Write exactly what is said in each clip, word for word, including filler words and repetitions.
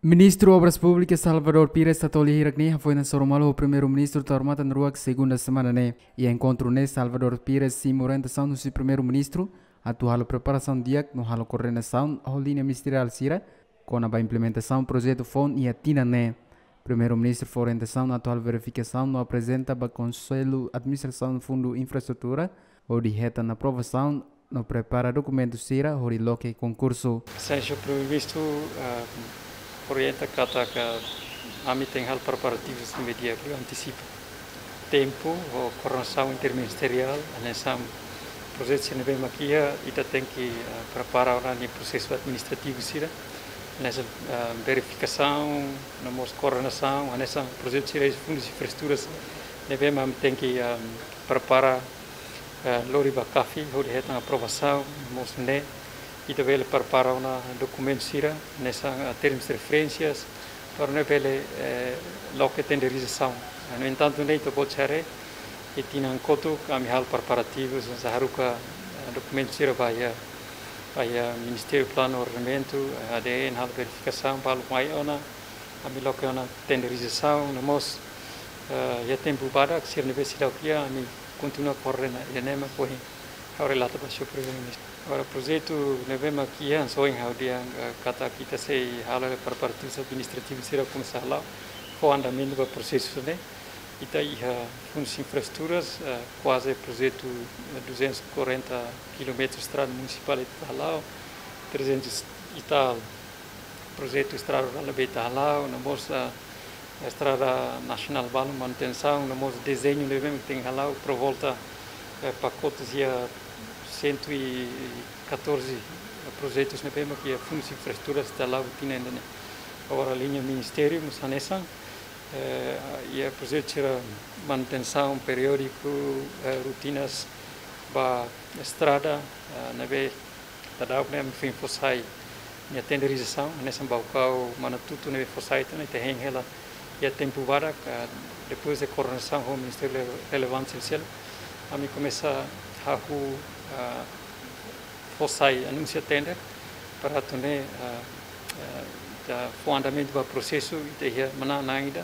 Ministru Obras Públikas Salvador Pires Satolia hirak ne'e hafoin hasoru malu ho Primeiru-Ministru Taur Matan Ruak segunda semana ne'e. Iha enkontru ne'e Salvador Pires simu orientasaun husi Primeiru-Ministru atu halo preparasaun di'ak no halo koordenasaun ho liña ministeriál sira kona-ba implementasaun projetu foun iha tinan ne'e. Primeiru-Ministru fó orientasaun atu halo verifikasaun no aprezenta ba Konsellu Administrasaun Fundu Infraestrutura hodi hetan aprovasaun no prepara dokumentu sira hodi loke konkursu. Señór Primeiru-Ministru, ah, orienta katak ami tenke halo preparativus ne'ebé di'ak liu, antisipa tempu ho koordenasaun interministeriál, hanesan projetu sira ne'ebé mak iha, ita tenke, ah, prepara ona nia prosesu administrativu sira, hanesan, ah, verifikasaun, no mós koordenasaun, hanesan projetu sira husi fundu infraestruturas ne'ebé mak tenke, ah, prepara, ah, lori ba CAFI hodi hetan aprovasaun, mós ne'e ita bele prepara ona dokumentu sira, hanesan, ah, termus de referénsias, para ne'e bele, eh, loke tenderizasaun. Ah, no entantu, ne'e ita-boot haree, iha tinan kotuk ami halo preparativus, hanesan haruka, ah, dokumentu sira ba iha, ba iha Ministériu Planu Ordenamentu, eh, ADN, halo verifikasaun, balu mai ona, ami loke ona tenderizasaun, no mós, eh, iha tempu badak, sira ne'ebé seidauk iha, ami kontinua koordena, ida-ne'e mak ohin ha'u relata ba Señór Primeiru-Ministru. Agora, projetu ne'ebé mak iha, hanesan ohin ha'u dehan, eh, katak ita sei halo preparativus administrativus sira komesa hala'o, fó andamentu ba prosesu ne'e. Ita iha fundu infraestruturas, eh, kuaze projetu, eh, duzentos e quarenta quilómetros estrada munisipál ita hala'o, trezentos e tal projetu estrada rurál ne'ebé ita hala'o, no mós, ah, estrada nasionál balun manutensaun, no mós dezeñu ne'ebé mak tenke hala'o, por volta, eh, pakotes iha cento e catorze projetus ne'ebé mak iha fundu infraestruturas ita hala'o tinan ida-ne'e. Agora liña ministériu mós hanesan, eh, iha projetu sira manutensaun periódiku, eh, rotinas ba estrada, eh, ne'ebé daudaun ne'e ami foin fó sai nia tenderizasaun, hanesan Baucau, Manatuto ne'ebé fó sai tiha ona, ita hein hela iha tempu badak, eh, depois de koordenasaun ho ministériu rele-, relevante sira seluk, ami komesa hahú, eh, fó sai anúnsia tender, para atu nune'e, eh, eh, ita fó andamentu ba prosesu, ita iha manán-na'in ida,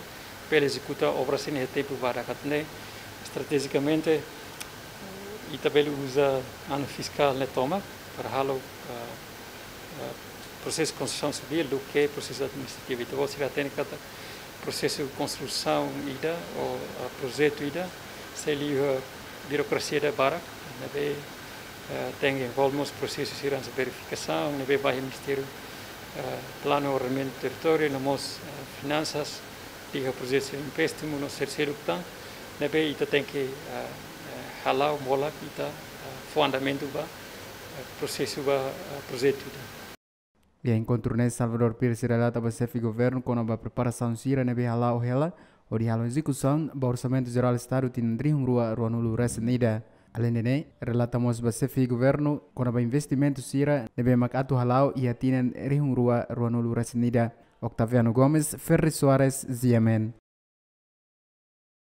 bele ezekuta obra sira-ne'e iha tempu badak. Atu nune'e, estratejikamente, ita bele uza anu fiskál ne'e tomak para halo, ah, ah, prosesu konstrusaun sivíl duké prosesu administrativu. Ita-boot sira hatene katak prosesu konstrusaun ida ou, ah, projetu ida sei liu iha birokrasia ida barak, ne'ebé, ah, tenke envolve mós prosesu sira hanesan verifikasaun, ne'ebé ba iha Ministériu, ah, Planu Ordenamentu Territóriu, no mós, ah, Finansas, liga projetu sira empréstimu no sira seluk tan, ne'ebé ita tenke, ah, eh, hala'o molak ita, ah, fó andamentu ba, eh, prosesu ba, ah, projetu ida. Iha enkontru ne'e Salvador Pires relata ba Xefe Governu kona-ba preparasaun sira ne'ebé hala'o hela hodi halo ezekusaun ba Orsamentu Jerál Estadu tinan rihun rua ruanulu resin ida. Aleinde ne'e, relata mós ba Xefe Governu kona-ba investimentu sira ne'ebé mak atu hala'o iha tinan rihun rua ruanulu resin ida. Octaviano Gomes, Ferri Soares, G M N.